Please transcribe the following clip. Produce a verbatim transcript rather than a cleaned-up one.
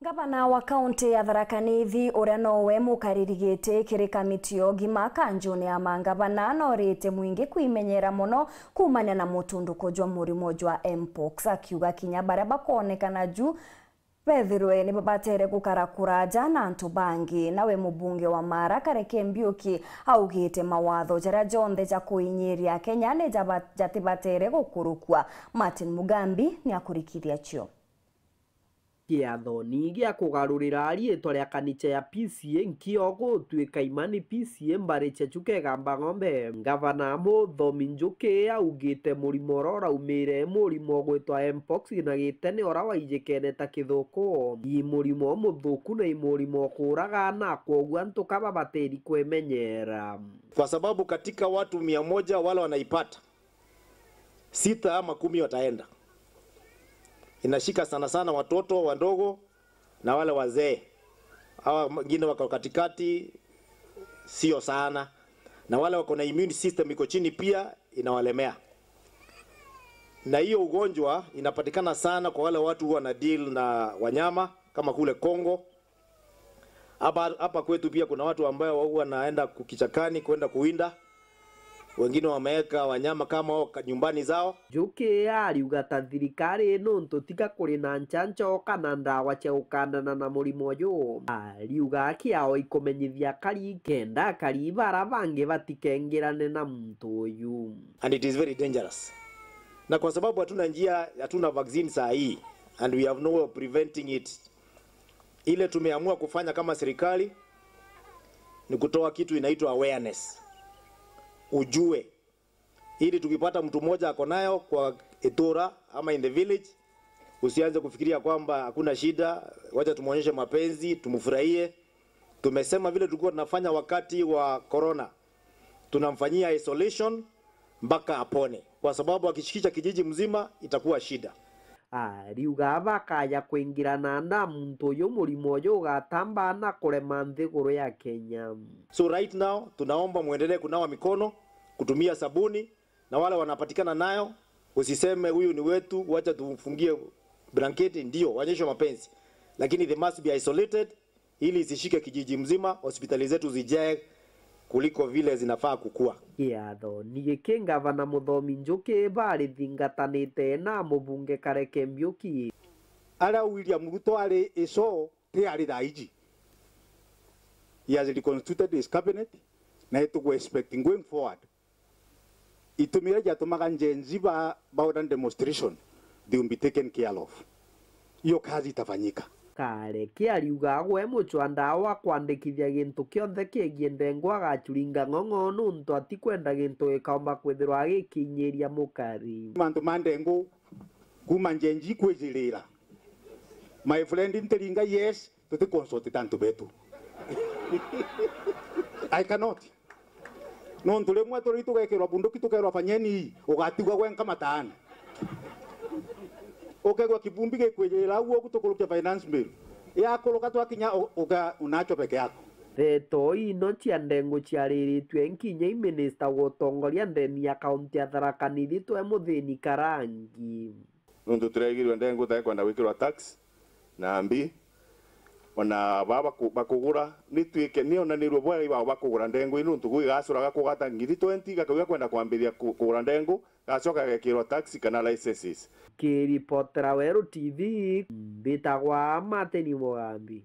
Ngavana wa kaunti ya Tharaka Nithi, uria nowe mukariri giti kiri kamiti ya ugima kanjuni ya mangavana, norite mwingi kwimenyera mono kuumania na mutunduko jwa murimo jwa mpox, akiuga kinya baria bakoonekana ju bethirwe ni babatere gukara kuraja na antu bangi. Nawe mubunge wa Mara Kareke Mbiuki augite mawatho jaria jonthe ja kuinyiria Kenya ni jaba-, jatibatere gukurukua. Martin Mugambi ni akurikithia cio. Kiathoni gia kugarurira riitwa ria kanicha ya P C A nkio gutwika imani P C A mbari cia Chuka Igamba Ng'ombe, Ngavana Muthomi Njuki augite murimo uria uraumire murimo ugwitwa mpox na gitene uria waijikene ta kithuku, i murimo umuthuku na i murimo ukuuraga, na kwoguo antu ka babatiri kwimenyera. Kwa sababu katika watu mia moja wale wanaipata, sita ama kumi wataenda. Inashika sana sana watoto wadogo na wale wazee. Hawa wengine wako katikati, sio sana. Na wale wako na immune system iko chini pia inawalemea. Na hiyo ugonjwa inapatikana sana kwa wale watu huwa na deal na wanyama kama kule Kongo. Hapa, hapa kwetu pia kuna watu ambao huwa wanaenda kichakani kwenda kuwinda. Wengine wameweka wanyama kama hao ka-, nyumbani zao. Njuki ariuga ta thirikari nuntu tiga kuri na nchancho kana ndawa cia gukandana na murimo uyu. Ariuga kiao ikumenyithia akari kenda akari bara bangi batikengirane na muntu uyu. And it is very dangerous. Na kwa sababu hatuna njia, hatuna vaccine saa hii, and we have no way of preventing it, ile tumeamua kufanya kama serikali ni kutoa kitu inaitwa awareness. Ujue. Ili tukipata mtu mmoja ako nayo kwa itura ama in the village, usianze kufikiria kwamba hakuna shida, wacha tumuonyeshe mapenzi, tumfurahie. Tumesema vile tulikuwa tunafanya wakati wa corona, tunamfanyia isolation mpaka apone, kwa sababu akishikisha kijiji mzima itakuwa shida. Ariuga bakaja kwingirana na muntu uyu murimo uyu ugatamba na kurema nthiguru ya Kenya. So right now tunaomba muendelee kunawa mikono, kutumia sabuni, na wale wanapatikana nayo, usiseme, "Huyu ni wetu, wacha tumfungie blanketi." Ndio, waonyeshe mapenzi, lakini they must be isolated ili isishike kijiji mzima, hospitali zetu zijae kuliko vile zinafaa kukua. Kiathoni giki, Ngavana Muthomi Njuki barithingatanite na mubunge Kareke Mbiuki. Aria William Ruto ari ico ti ari thaa iji. He has reconstituted his cabinet, na itugu expect going forward. Itumi iria ciatumaga Gen Z ba, ba order demonstration, they will be taken care of. Hiyo kazi itafanyika. Kareke ariuga gwe mucwa ndawa kwandikithia gintu kionthe kiegie ndengo agacuringa ng'ong'o nuntu atikwenda gintu gikaumba kwithirwa gikinyiria mukari. Mantu ma ndengo kuma Gen Z kwijirira. My friend, ntiringa yes, tuti consult antu betu. I cannot. Nontu rimwe turi tugekirwa bunduki, tukerwa, "Fanyeni ii," ugatigwa gwenka mataani. Ukegwa kivumbi gikwijirira au ugu tukurukia finance bill. Yakuruka twakinya u-, uga unacho peke yako. Ndeto ino cia ndengu ciariritue nkinya i minista wa utongoria ndeni ya kaunti ya Tharaka Nithi Twae Muthini Karangi. Nuntu turegirwe ndengu tae kwenda gwikirwa tax na mbi, ona baa baku-, bakugura, ni twike, ni onanirue bwega ibao bakugura ndengu ii, nuntu gwi gacuraga kugata ngiri twenty, gakauga kwenda kwambiria ku-, kugura ndengu, gacoka gagekirwa tax kana licenses. Kiripotera Weru T V, mbitagwa Martin Mugambi.